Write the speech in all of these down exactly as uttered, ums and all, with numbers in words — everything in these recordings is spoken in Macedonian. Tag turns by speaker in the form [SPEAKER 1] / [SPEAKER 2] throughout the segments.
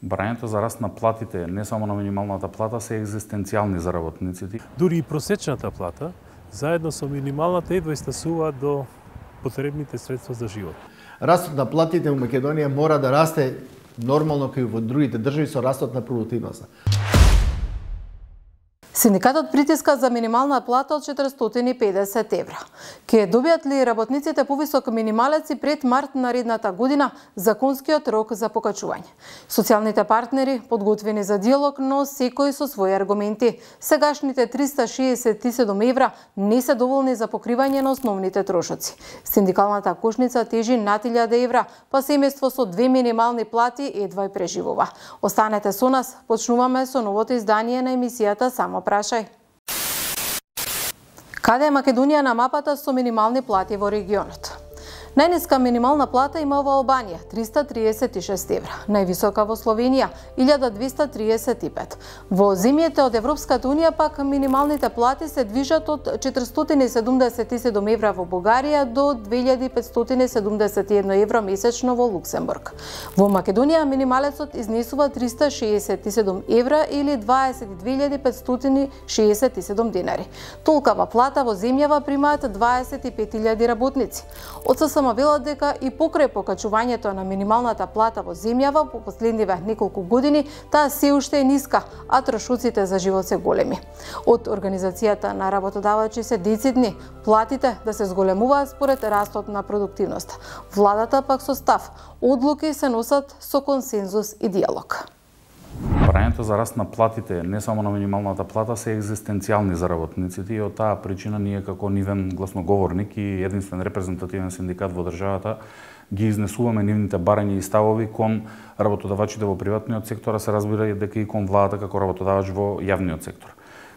[SPEAKER 1] Барањето за раст на платите, не само на минималната плата, се екзистенцијални за работниците.
[SPEAKER 2] Дури и просечната плата, заедно со минималната едва стасува до потребните средства за живот.
[SPEAKER 3] Растот на платите во Македонија мора да расте нормално како и во другите држави со растот на продуктивноста.
[SPEAKER 4] Синдикатот притиска за минимална плата од четиристотини и педесет евра. Ке добијат ли работниците повисок минималец и пред март наредната година законскиот рок за покачување? Социјалните партнери подготвени за диалог, но секој со своји аргументи. Сегашните триста шеесет и седум евра не се доволни за покривање на основните трошоци. Синдикалната кошница тежи над илјада евра, па семејство со две минимални плати едва и преживува. Останете со нас, почнуваме со новото издание на емисијата Само прашај. Каде е Македонија на мапата со минимални плати во регионот? Најниска минимална плата има во Албанија – триста триесет и шест евра, највисока во Словенија – илјада двеста триесет и пет. Во земјите од Европската унија пак минималните плати се движат од четиристотини седумдесет и седум евра во Бугарија до две илјади петстотини седумдесет и едно евро месечно во Луксембург. Во Македонија минималецот изнесува триста шеесет и седум евра или дваесет и две илјади петстотини шеесет и седум денари. Толкава плата во земјава примаат дваесет и пет илјади работници. Од ССМ велат дека и покрај покачувањето на минималната плата во земјава по последниве неколку години, таа се уште е ниска, а трошоците за живот се големи. Од Организацијата на работодавачи се децидни платите да се зголемуваат според растот на продуктивноста. Владата пак со став, одлуки се носат со консензус и диалог.
[SPEAKER 1] Барањето за раст на платите, не само на минималната плата, се екзистенцијални за работниците и од таа причина ние како нивен гласноговорник и единствен репрезентативен синдикат во државата ги изнесуваме нивните барања и ставови кон работодавачите во приватниот сектор, а се разбира и дека и кон владата како работодавач во јавниот сектор.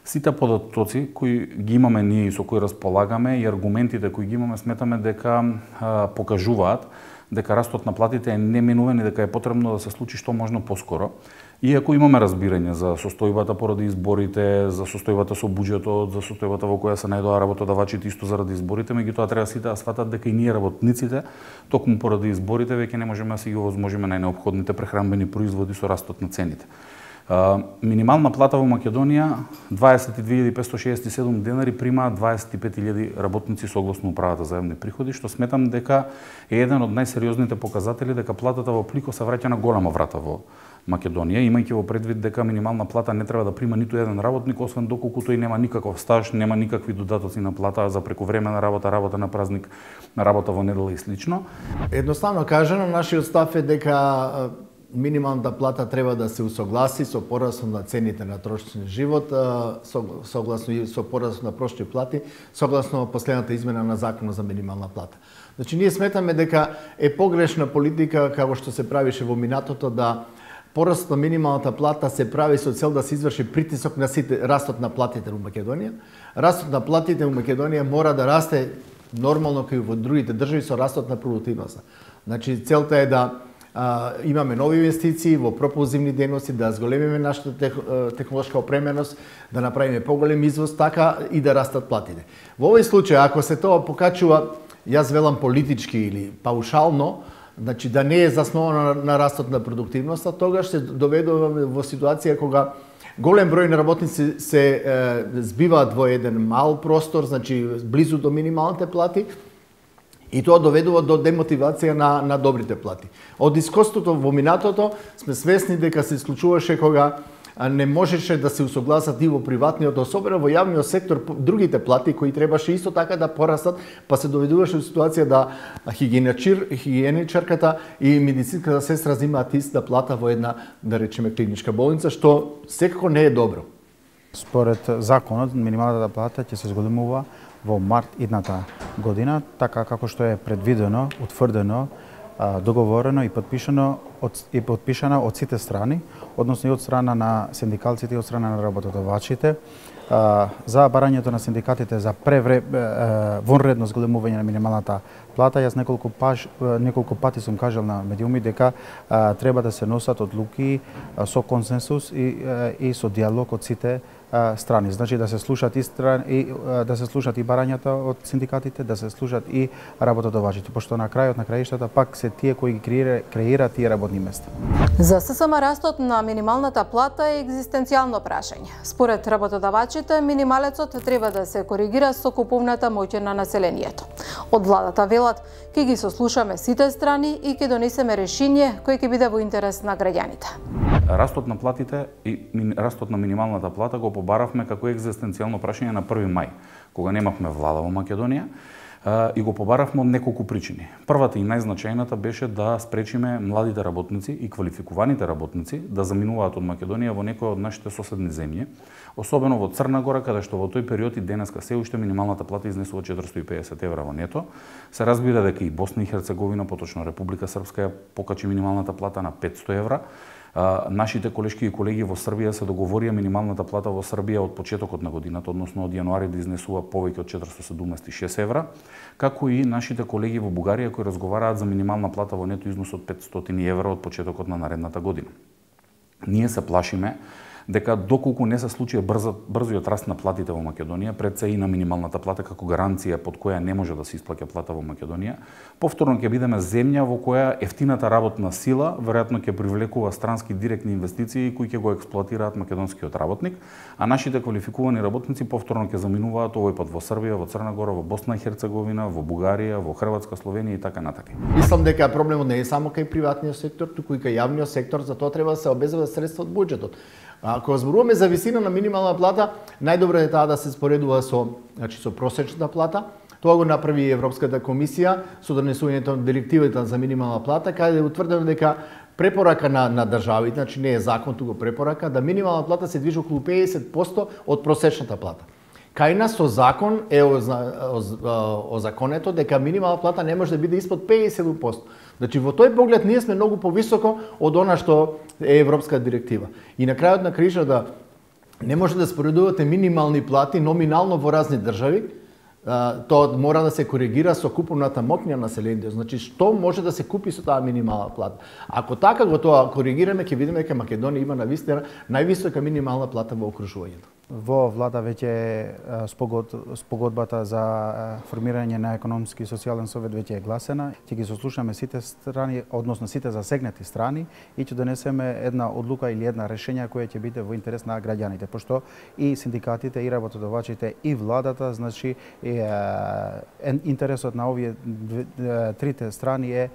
[SPEAKER 1] Сите податоци кои ги имаме ние и со кои располагаме и аргументите кои ги имаме, сметаме дека а, покажуваат дека растот на платите е неминувен и дека е потребно да се случи што можно поскоро. Иако имаме разбирање за состојбата поради изборите, за состојбата со буџетот, за состојбата во која се најдоа работодавачите исто заради изборите, меѓутоа треба сите да сватат дека и ние работниците, токму поради изборите, веќе не можеме да си ги овозможиме најнеопходните прехранбени производи со растот на цените. Uh, минимална плата во Македонија дваесет и две илјади петстотини шеесет и седум денари примаат дваесет и пет илјади работници согласно управата за јавни приходи, што сметам дека е еден од најсериозните показатели дека платата во Плико се враќа на голема врата во Македонија, имајќи во предвид дека минимална плата не треба да прима ниту еден работник, освен доколку тој нема никаков стаж, нема никакви додатоци на плата за прековремена работа, работа на празник, работа во недела и слично.
[SPEAKER 3] Едноставно кажано, нашиот став е дека минималната плата треба да се усогласи со порасот на цените на трошочен живот, согласно и со порасот на прошти плати, согласно последната измена на законот за минимална плата. Значи, ние сметаме дека е погрешна политика, како што се правише во минатото, да порасот на минималната плата се прави со цел да се изврши притисок на сите, растот на платите во Македонија. Растот на платите во Македонија мора да расте нормално како и во другите држави со растот на продуктивноста. Значи, целта е да а, имаме нови инвестиции во пропулзивни дејности, да зголемиме нашата тех, технолошка опременост, да направиме поголем извоз, така и да растат платите. Во овој случај, ако се тоа покачува, јас велам политички или паушално, значи да не е засновано на, на растот на продуктивноста, тогаш се доведуваме во ситуација кога голем број на работници се е, збиваат во еден мал простор, значи близу до минималните плати, и тоа доведува до демотивација на, на добрите плати. Од искуството во минатото сме свесни дека се исклучуваше кога не можеше да се усогласат и во приватниот, особено во јавниот сектор, другите плати кои требаше исто така да порастат, па се доведуваше во ситуација да хигиеничар, хигиеничарката и медицинската сестра земаат иста плата во една, да речеме, клиничка болница, што секако не е добро.
[SPEAKER 5] Според законот, минималната плата ќе се зголемува во март идната година, така како што е предвидено, утврдено, договорено и подпишано од, и подпишана од сите страни, односно и од страна на синдикалците и од страна на работодавачите, за барањето на синдикатите за превре, вонредно зголемување на минималната плата. Јас неколку, паш, неколку пати сум кажал на медиуми дека треба да се носат одлуки со консенсус и, и со диалог од сите страни. Значи да се слушат и страни, и да се слушат и барањата од синдикатите, да се слушат и работодавачите, пошто на крајот на краиштата пак се тие кои ги креира, креираат тие работи работни места.
[SPEAKER 4] За ССМ растот на минималната плата е екзистенцијално прашање. Според работодавачите, минималецот треба да се коригира со куповната моќ на населението. Од владата велат, ќе ги сослушаме сите страни и ќе донесеме решение кој ќе биде во интерес на граѓаните.
[SPEAKER 1] Растот на платите и растот на минималната плата го побаравме како екзистенцијално прашање на први мај, кога немавме влада во Македонија, и го побаравме од неколку причини. Првата и најзначајната беше да спречиме младите работници и квалификуваните работници да заминуваат од Македонија во некои од нашите соседни земји, особено во Црна Гора, каде што во тој период и денеска се уште минималната плата изнесува четиристотини и педесет евра во нето. Се разбира дека и Босна и Херцеговина, поточно Република Српска, ја покачи минималната плата на петсто евра. Нашите колешки и колеги во Србија се договорија минималната плата во Србија од почетокот на годината, односно од јануари, да изнесува повеќе од четиристотини седумдесет и шест евра, како и нашите колеги во Бугарија кои разговараат за минимална плата во нето износ од петстотини евра од почетокот на наредната година. Ние се плашиме дека доколку не се случи брзо, брзиот раст на платите во Македонија, пред се и на минималната плата како гаранција под која не може да се исплаќа плата во Македонија, повторно ќе бидеме земја во која ефтината работна сила веројатно ќе привлекува странски директни инвестиции кои ќе го експлоатираат македонскиот работник, а нашите квалификувани работници повторно ќе заминуваат овој пат во Србија, во Црна Гора, во Босна и Херцеговина, во Бугарија, во Хрватска, Словенија и така натаму.
[SPEAKER 3] Мислам дека проблемот не е само кај приватниот сектор, туку и кај јавниот сектор, за тоа треба да се обезбедат средства од буџетот. Ако зборуваме за висина на минимална плата, најдобро е таа да се споредува со, значи, со просечната плата. Тоа го направи Европската комисија со донесувањето на директивата за минимална плата, каде е утврдено дека препорака на, на државите, значи не е закон, туку препорака, да минимална плата се движи околу педесет проценти од просечната плата. Кај нас со закон е озаконето дека минимална плата не може да биде испод педесет проценти. Значи во тој поглед ние сме многу повисоко од она што е европска директива. И на крајот на кришата не може да споредувате минимални плати номинално во разни држави. Тоа мора да се коригира со куповната моќ на населението. Значи што може да се купи со таа минимална плата. Ако така го тоа коригираме, ќе видиме дека Македонија има навистина највисока минимална плата во окружувањето.
[SPEAKER 5] Во влада веќе спогод, спогодбата за формирање на економски и социјален совет веќе е гласена. Ќе ги сослушаме сите страни, односно сите засегнати страни и ќе донесеме една одлука или една решение која ќе биде во интерес на граѓаните, пошто и синдикатите и работодавачите и владата, значи е, е интересот на овие трите страни е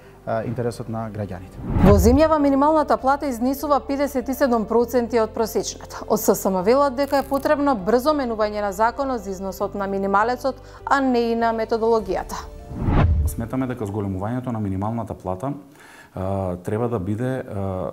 [SPEAKER 5] интересот на граѓаните.
[SPEAKER 4] Во земјава минималната плата изнесува педесет и седум проценти од просечната. Од ССМ велат дека е потребно брзо менување на законот за износот на минималецот, а не и на методологијата.
[SPEAKER 1] Сметаме дека зголемувањето на минималната плата треба да биде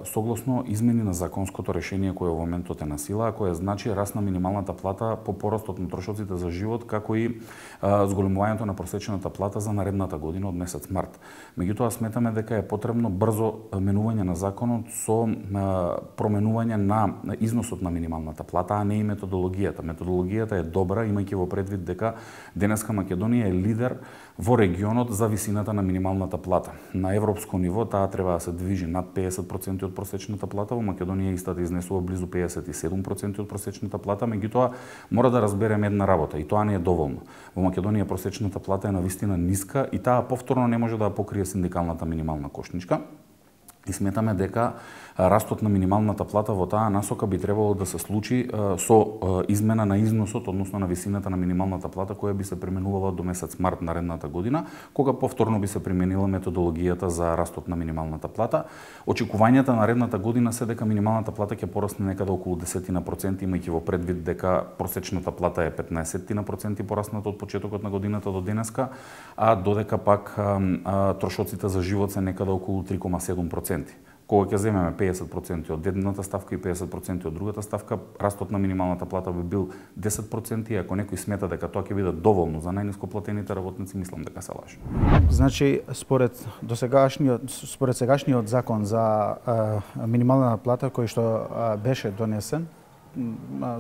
[SPEAKER 1] согласно измени на законското решение кое во моментот е на сила, а кое значи раст на минималната плата по порастот на трошоците за живот, како и зголемувањето на просечната плата за наредната година од месец март. Меѓутоа сметаме дека е потребно брзо менување на законот со променување на износот на минималната плата, а не и методологијата. Методологијата е добра, имајќи во предвид дека денеска Македонија е лидер во регионот за висината на минималната плата. На европско ниво таа треба да се движи над педесет проценти од просечната плата, во Македонија истата изнесува близу педесет и седум проценти од просечната плата, меѓутоа мора да разбереме една работа и тоа не е доволно. Во Македонија просечната плата е навистина ниска и таа повторно не може да ја покрие синдикалната минимална кошничка. И сметаме дека растот на минималната плата во таа насока би требало да се случи со измена на износот, односно на висината на минималната плата која би се применувала до месец март наредната година, кога повторно би се применила методологијата за растот на минималната плата. Очекувањата наредната година се дека минималната плата ќе порасне некаде околу десет проценти, имајќи во предвид дека просечната плата е петнаесет проценти порасната од почетокот на годината до денеска, а додека пак трошоците за живот се некаде околу три zarez седум проценти. Кога ќе земеме педесет проценти од едната ставка и педесет проценти од другата ставка, растот на минималната плата би бил десет проценти, ако некој смета дека тоа ќе биде доволно за најниско платените работници, мислам дека се лаже.
[SPEAKER 5] Значи, според досегашниот според сегашниот закон за а, минимална плата кој што а, беше донесен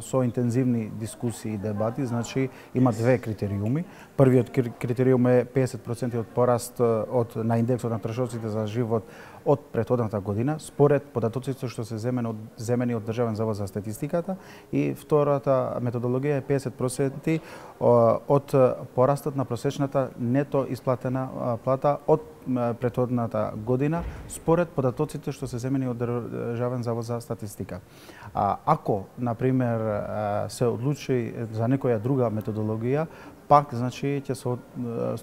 [SPEAKER 5] со интензивни дискусии и дебати, значи има две критериуми. Првиот критериум е педесет проценти од пораст од на индексот на трошоците за живот од претходната година, според податоците што се земени од, земени од Државен завод за статистиката, и втората методологија е педесет проценти од порастот на просечната нето исплатена плата од претходната година, според податоците што се земени од Државен завод за статистика. А ако, например, се одлучи за некоја друга методологија, пак, значи, ќе се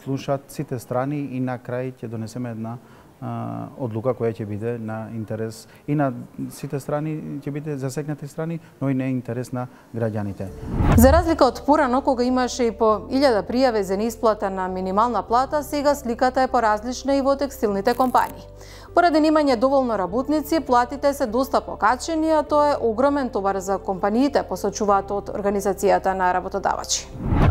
[SPEAKER 5] слушат сите страни и на крај ќе донесеме една а, одлука која ќе биде на интерес и на сите страни, ќе биде засегнати страни, но и на интерес на граѓаните.
[SPEAKER 4] За разлика од порано, кога имаше и по илјада пријави за неисплата на минимална плата, сега сликата е поразлична и во текстилните компании. Поради немање доволно работници, платите се доста покачени, а тоа е огромен товар за компаниите, посочуваат од Организацијата на работодавачи.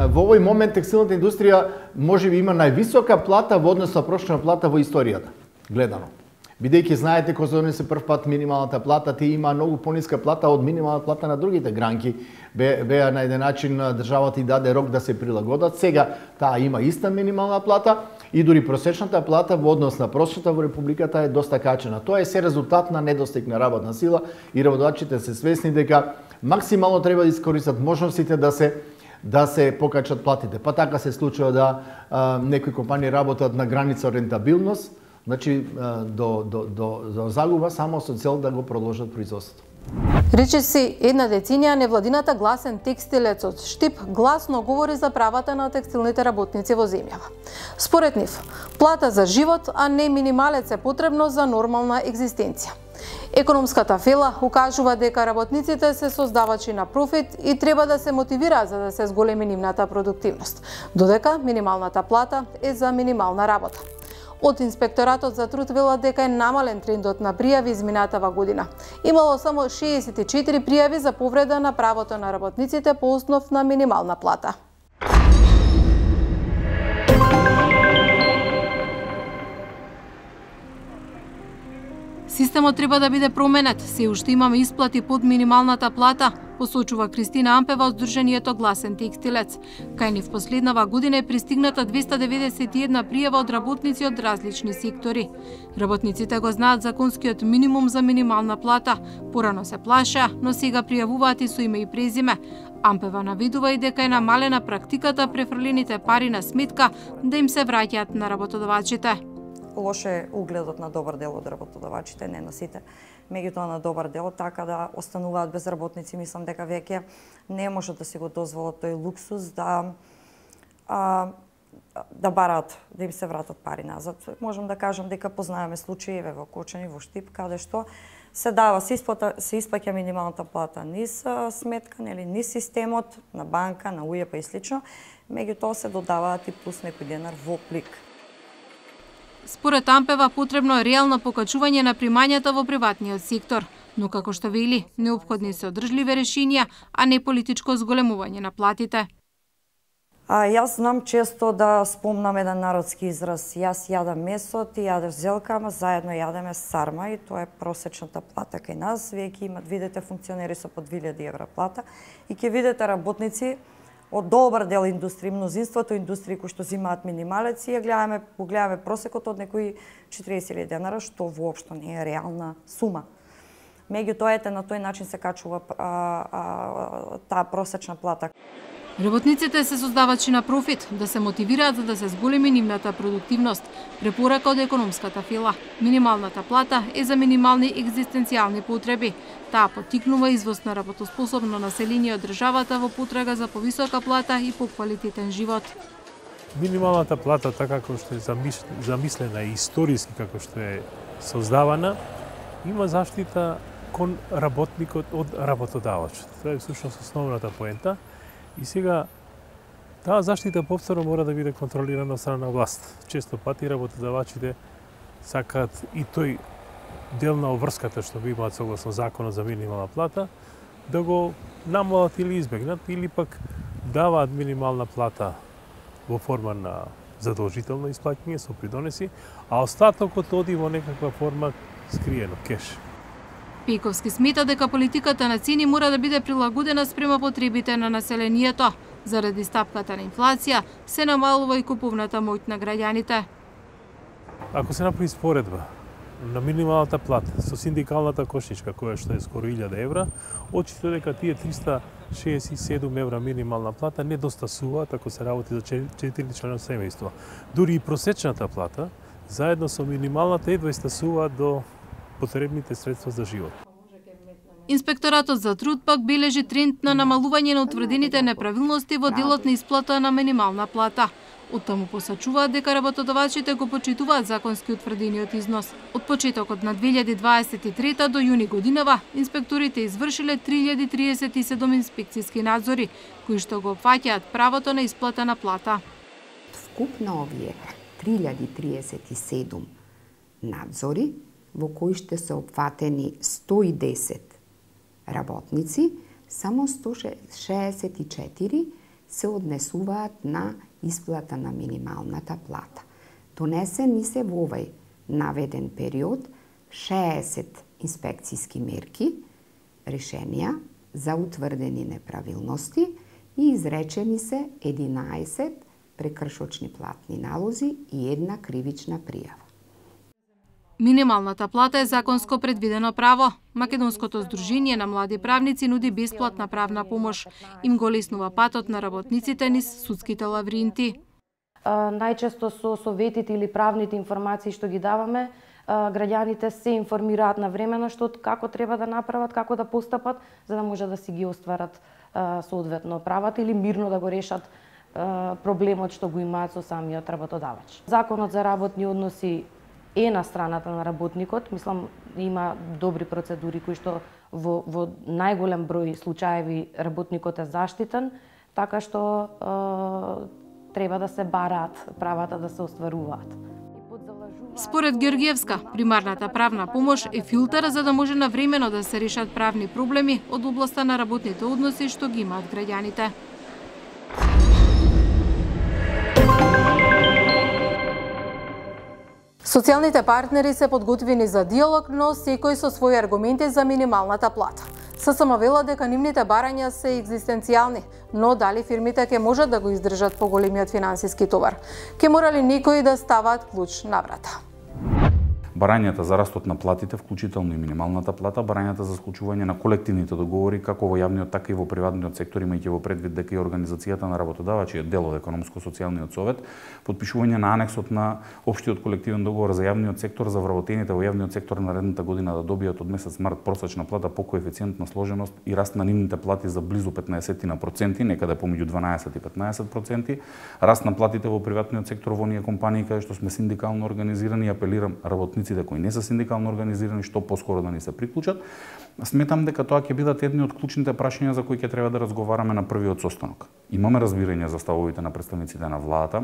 [SPEAKER 3] Во овој момент текстилната индустрија можеби има највисока плата во однос на прошна плата во историјата, гледано. Бидејќи знаете, кога се донесе прв пат минималната плата, тие има многу пониска плата од минималната плата на другите гранки. Бе, беа на еден начин државата и даде рок да се прилагодат. Сега таа има иста минимална плата и дури просечната плата во однос на прошната во републиката е доста качена. Тоа е се резултат на недостиг на работна сила и работодавачите се свесни дека максимално треба да искористат можностите да се да се покачат платите. Па така се случува да а, некои компании работат на граница рентабилност, значи до, до, до, до загуба само со цел да го продолжат производството.
[SPEAKER 4] Речиси една деценија невладината гласен текстилец од Штип гласно говори за правата на текстилните работници во земјава. Според нив, плата за живот, а не минималец е потребно за нормална екзистенција. Економската фела укажува дека работниците се создавачи на профит и треба да се мотивираат за да се зголеми нивната продуктивност, додека минималната плата е за минимална работа. Од Инспекторатот за труд велат дека е намален трендот на пријави изминатава година. Имало само шеесет и четири пријави за повреда на правото на работниците по основ на минимална плата. Системот треба да биде променет, се уште имаме исплати под минималната плата, посочува Кристина Ампева од Сдруженијето Гласен текстилец. Кај нив последнава година е пристигната двеста деветдесет и една пријава од работници од различни сектори. Работниците го знаат законскиот минимум за минимална плата. Порано се плаша, но сега пријавуваат и со име и презиме. Ампева навидува и дека е намалена практиката префрлените пари на сметка да им се враќаат на работодавачите.
[SPEAKER 6] Лоше е угледот на добар дел од работодавачите, не на сите, меѓутоа на добар дел, така да остануваат без работници. Мислам дека веќе не може да си го дозволат тој луксус да а, да бараат, да им се вратат пари назад. Можам да кажам дека познаеме случаи во Кочани, во Штип, каде што се дава, се, исплата, се исплаќа минималната плата низ сметка, нели, низ системот, на банка, на УЈП и слично, меѓутоа се додаваат и плюс некој денар во плик.
[SPEAKER 4] Според Ампева, потребно е реално покачување на примањата во приватниот сектор, но како што вели, неопходни се одржливи решенија, а не политичко зголемување на платите.
[SPEAKER 6] А, јас знам често да спомнам еден народски израз. Јас јадам месо, ти јадеш зелка, ама заедно јадеме сарма и тоа е просечната плата кај нас. Вие ќе имат, видите функционери со по две илјади евра плата и ќе видите работници од добар дел индустрии, мнозинството индустрии кои што зимаат минималец и ја гледаме, погледаме просекот од некои четириесет илјади денара, што воопшто не е реална сума. Меѓутоа ете на тој начин се качува а, а, таа просечна плата.
[SPEAKER 4] Работниците се создавачи на профит, да се мотивираат за да се зголеми нивната продуктивност. Препорака од економската фила. Минималната плата е за минимални екзистенцијални потреби. Таа поттикнува извоз на работоспособно население од државата во потрага за повисока плата и поквалитетен живот.
[SPEAKER 2] Минималната плата, така како што е замислена и историски како што е создавана, има заштита кон работникот од работодавачот. Тоа е всушност основната поента. И сега, таа заштита повторно мора да биде контролирана од страна на власт. Често пати работодавачите сакаат и тој дел на обврската што го имаат согласно законот за минимална плата, да го намалат или избегнат, или пак даваат минимална плата во форма на задолжително исплаќање со придонеси, а остатокот оди во некаква форма скриено, кеш.
[SPEAKER 4] Пејковски смета дека политиката на цени мора да биде прилагодена спрема потребите на населението. Заради стапката на инфлација се намалува и купувната моќ на граѓаните.
[SPEAKER 2] Ако се направи споредба на минималната плата со синдикалната кошничка која што е скоро илјада евра, очито дека тие триста шеесет и седум евра минимална плата не достасуваат ако се работи за четиричлено семејство. Дури и просечната плата заедно со минималната едва стасуваат до потребните средства за живот.
[SPEAKER 4] Инспекторатот за труд пак бележи тренд на намалување на утврдените неправилности во делот на исплата на минимална плата. Оттаму посачуваат дека работодавачите го почитуваат законски утврдениот износ. Од почетокот на две илјади дваесет и трета до јуни годинава, инспекторите извршиле три илјади триесет и седум инспекцијски надзори, кои што го опфаќаат правото на исплата на плата.
[SPEAKER 7] Вкупно овие три илјади триесет и седум надзори, во кои ще се опфатени сто и десет работници, само сто шеесет и четири се однесуваат на исплата на минималната плата. Донесени се во овај наведен период шеесет инспекцијски мерки, решенија за утврдени неправилности и изречени се единаесет прекршочни платни налози и една кривична пријава.
[SPEAKER 4] Минималната плата е законско предвидено право. Македонското здружение на млади правници нуди бесплатна правна помош. Им го леснува патот на работниците низ судските лавринти.
[SPEAKER 8] Најчесто со советите или правните информации што ги даваме, граѓаните се информираат навремено што како треба да направат, како да постапат, за да може да си ги остварат соодветно правата или мирно да го решат проблемот што го имаат со самиот работодавач. Законот за работни односи е на страната на работникот, мислам има добри процедури кои што во, во најголем број случаеви работникот е заштитен, така што е, треба да се бараат правата да се остваруваат.
[SPEAKER 4] Според Георгиевска, примарната правна помош е филтер за да може навремено да се решат правни проблеми од областа на работните односи што ги имаат граѓаните. Социјалните партнери се подготвени за диалог, но секој со своји аргументи за минималната плата. ССМ вела дека нивните барања се екзистенцијални, но дали фирмите ќе можат да го издржат поголемиот финансиски товар? Ќе морали некои да ставаат клуч на врата.
[SPEAKER 1] Барањата за растот на платите, вклучително и минималната плата, барањата за склучување на колективните договори, како во јавниот, така и во приватниот сектор, имајќи во предвид дека и Организацијата на работодавачи е дел од Економско-социјалниот совет, подпишување на анексот на општиот колективен договор за јавниот сектор за вработените во јавниот сектор наредната година да добијат од месец март просечна плата по коефициент на сложеност и раст на нивните плати за близу петнаесет на проценти, некаде помеѓу дванаесет и петнаесет проценти, раст на платите во приватниот сектор во оние компании каде што сме синдикално организирани, апелирам работниците кои не се синдикално организирани што поскоро да ни се приклучат. Сметам дека тоа ќе бидат едни од клучните прашања за кои ќе треба да разговараме на првиот состанок. Имаме разбирање за ставовите на представниците на владата,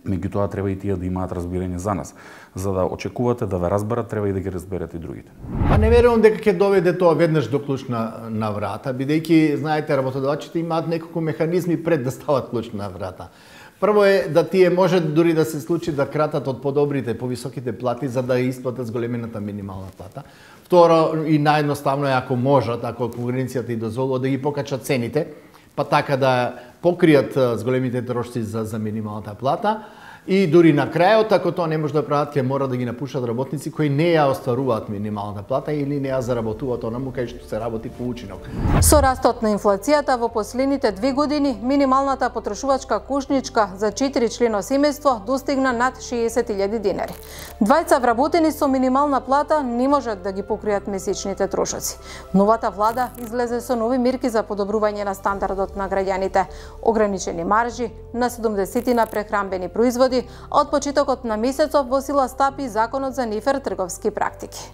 [SPEAKER 1] меѓутоа треба и тие да имаат разбирање за нас. За да очекувате да ве разберат, треба и да ги разберете и другите.
[SPEAKER 3] Па не верувам дека ќе доведе тоа веднаш до клуч на, на врата, бидејќи знаете работодавачите имаат неколку механизми пред да стават клуч на врата. Прво е да тие може дури да се случи да кратат од подобрите, повисоките плати за да исплатат зголемената минимална плата. Второ и наједноставно е ако можат, ако конкуренцијата и дозволува да ги покачат цените, па така да покријат зголемите трошци за, за минималната плата. И дури на крајот, ако тоа не може да прават, ќе мора да ги напушат работници кои не ја остваруваат минималната плата или не ја заработуваат онаму кај што се работи по учинок.
[SPEAKER 4] Со растот на инфлацијата во последните две години, минималната потрошувачка кошничка за четиричлено семејство достигна над шеесет илјади денари. Двајца вработени со минимална плата не можат да ги покријат месечните трошоци. Новата влада излезе со нови мерки за подобрување на стандардот на граѓаните, ограничени маржи на седумдесет на прехранбени производи, а од почетокот на месецов во сила стапи законот за нефер трговски практики.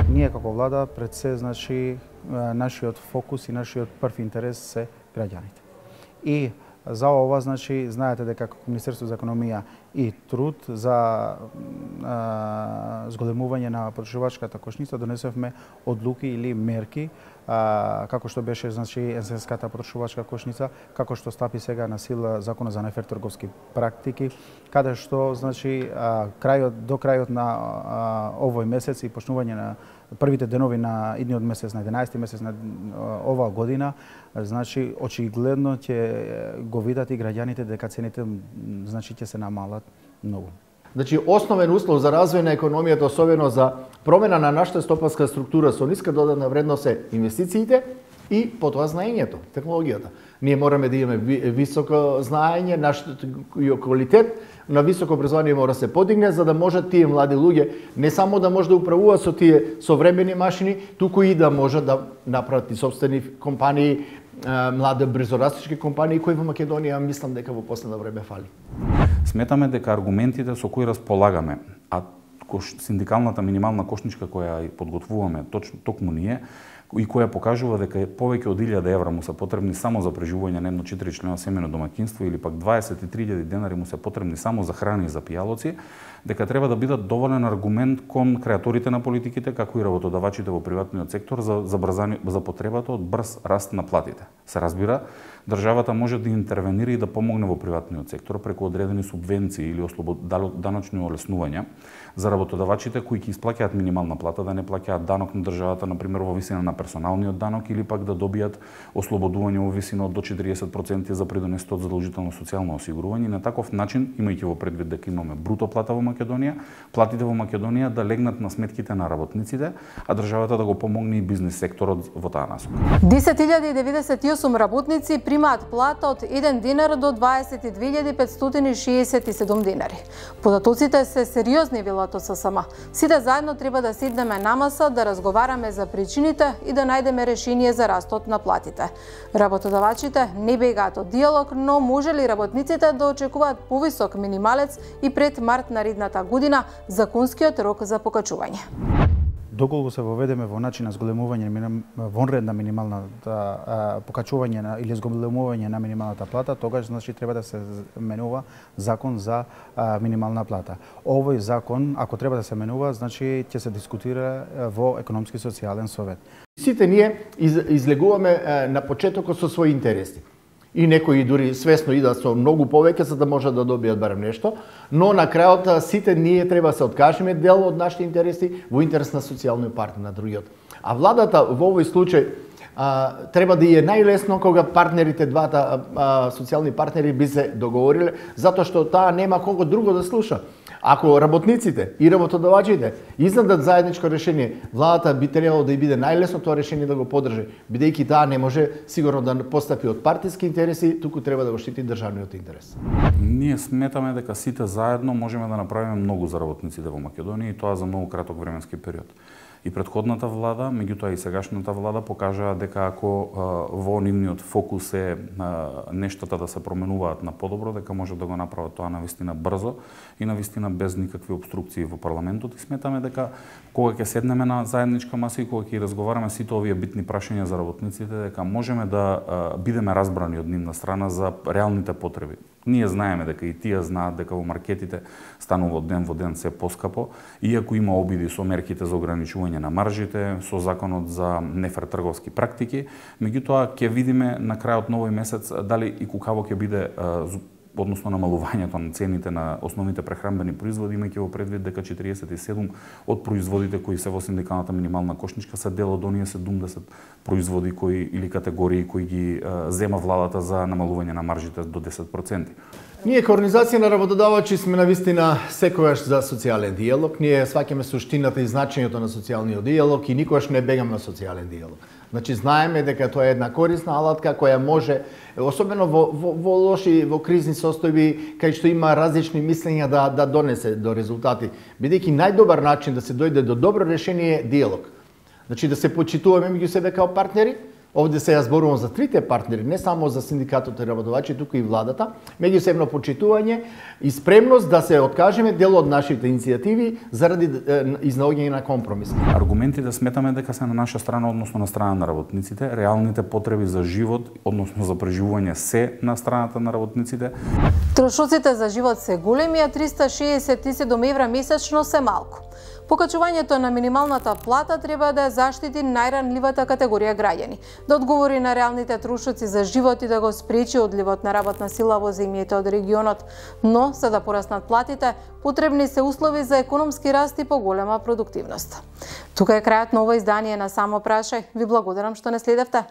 [SPEAKER 5] Ние како влада пред се, значи, нашиот фокус и нашиот прв интерес се граѓаните. И за ова, значи, знаете дека како Министерство за економија и труд за а, зголемување на потрошувачката кошница донесовме одлуки или мерки, а, како што беше, значи, енсенската потрошувачка кошница, како што стапи сега на сила законот за нефер трговски практики, каде што, значи, а, крајот до крајот на а, овој месец и почнување на првите денови на идниот месец, на единаесети месец на оваа година, значи очигледно ќе го видат и граѓаните дека цените, значи, ќе се намалат многу.
[SPEAKER 3] Значи, основен услов за развој на економијата, особено за промена на нашата стопанска структура со ниска додадена вредност е инвестициите и потоа знаењето, технологијата. Ние мораме да имаме високо знаење, нашата квалитет на високо образование мора да се подигне, за да можат тие млади луѓе не само да може да управуваат со тие современи машини, туку и да можат да направат и собствени компании, млади брзорастички компании кои во Македонија мислам дека во последно време фали.
[SPEAKER 1] Сметаме дека аргументите со кои располагаме, а синдикалната минимална кошничка која подготвуваме точно токму ние и која покажува дека повеќе од илјада евра му се потребни само за преживување на едно четиричлено семејно домаќинство или пак дваесет и три илјади денари му се потребни само за храна и за пијалоци, дека треба да бидат доволен аргумент кон креаторите на политиките, како и работодавачите во приватниот сектор за забрзани за потребата од брз раст на платите. Се разбира, државата може да интервенира и да помогне во приватниот сектор преку одредени субвенции или даночни олеснувања за работодавачите кои ќе исплаќаат минимална плата, да не плаќаат данок на државата, например во висина на персоналниот данок, или пак да добијат ослободување во висина од до четириесет проценти за придонесот од задолжително социјално осигурување. И на таков начин, имајќи во предвид дека имаме бруто плата во Македонија, платите во Македонија да легнат на сметките на работниците, а државата да го помогне и бизнис секторот во таа насока.
[SPEAKER 4] десет илјади деветдесет и осум работници примаат плата од еден динар до дваесет и две илјади петстотини шеесет и седум динари. Податоците се сериозни, велат ССМ. Сите заедно треба да седнеме на маса, да разговараме за причините и да најдеме решение за растот на платите. Работодавачите не бегаат од диалог, но може ли работниците да очекуваат повисок минималец и пред март наредната година законскиот рок за покачување?
[SPEAKER 5] Доколку се воведеме во начин на зголемување вонредна минимална покачување на или зголемување на минималната плата, тогаш значи треба да се менува закон за а, минимална плата. Овој закон, ако треба да се менува, значи ќе се дискутира во економски социјален совет.
[SPEAKER 3] Сите ние из, излегуваме е, на почетокот со своји интереси. И некои дури свесно идат со многу повеќе за да можат да добијат барем нешто, но на крајот сите ние треба да се откажеме дел од нашите интереси во интерес на социјалниот партнер на другиот. А владата во овој случај а, треба да е најлесно кога партнерите, двата а, социјални партнери би се договориле, затоа што таа нема кого друго да слуша. Ако работниците и работодавачите изнадат заедничко решение, владата би требало да и биде најлесно тоа решение да го поддржи, бидејќи таа не може сигурно да постапи од партиски интереси, туку треба да го штити државниот интерес.
[SPEAKER 1] Ние сметаме дека сите заедно можеме да направиме многу за работниците во Македонија и тоа за многу краток временски период. И претходната влада, меѓутоа и сегашната влада покажаа дека ако а, во нивниот фокус е а, нештата да се променуваат на подобро, дека може да го направат тоа навистина брзо и навистина без никакви обструкции во парламентот. И сметаме дека кога ќе седнеме на заедничка маса и кога ќе разговараме сите овие битни прашања за работниците, дека можеме да а, бидеме разбрани од нивна страна за реалните потреби. Ние знаеме дека и тие знаат дека во маркетите станува од ден во ден се поскапо, иако има обиди со мерките за ограничување на маржите, со законот за нефер трговски практики, меѓутоа ќе видиме на крајот на овој месец дали и кукаво ќе биде односно намалувањето на цените на основните прехранбени производи, имајќи во предвид дека четириесет и седум од производите кои се во синдикалната минимална кошничка се дел од оние седумдесет производи кои или категории кои ги а, зема владата за намалување на маржите до десет проценти.
[SPEAKER 3] Ние како организација на работодавачи сме навистина секогаш за социјален диалог. Ние сваќаме суштината и значењето на социјалниот диалог и никогаш не бегаме на социјален диалог. Значи знаеме дека тоа е една корисна алатка која може, особено во, во, во лоши, во кризни состојби, кај што има различни мислења да, да донесе до резултати. Бидејќи најдобар начин да се дојде до добро решение е диалог. Значи да се почитуваме меѓу себе како партнери. Овде се ја зборувам за трите партнери, не само за синдикатот и работодавачи, туку и владата, меѓусебно почитување и спремност да се откажеме дел од нашите иницијативи заради изнаоѓање на компромис.
[SPEAKER 1] Аргументите сметаме дека се на наша страна, односно на страна на работниците, реалните потреби за живот, односно за преживување се на страната на работниците.
[SPEAKER 4] Трошоците за живот се големи, а триста шеесет и седум евра месечно се малку. Покачувањето на минималната плата треба да заштити најранливата категорија граѓани, да одговори на реалните трошоци за живот и да го спречи одливот на работна сила во земјите од регионот. Но, за да пораснат платите, потребни се услови за економски раст и поголема продуктивност. Тука е крајот на ова издание на Само прашај. Ви благодарам што не следевте.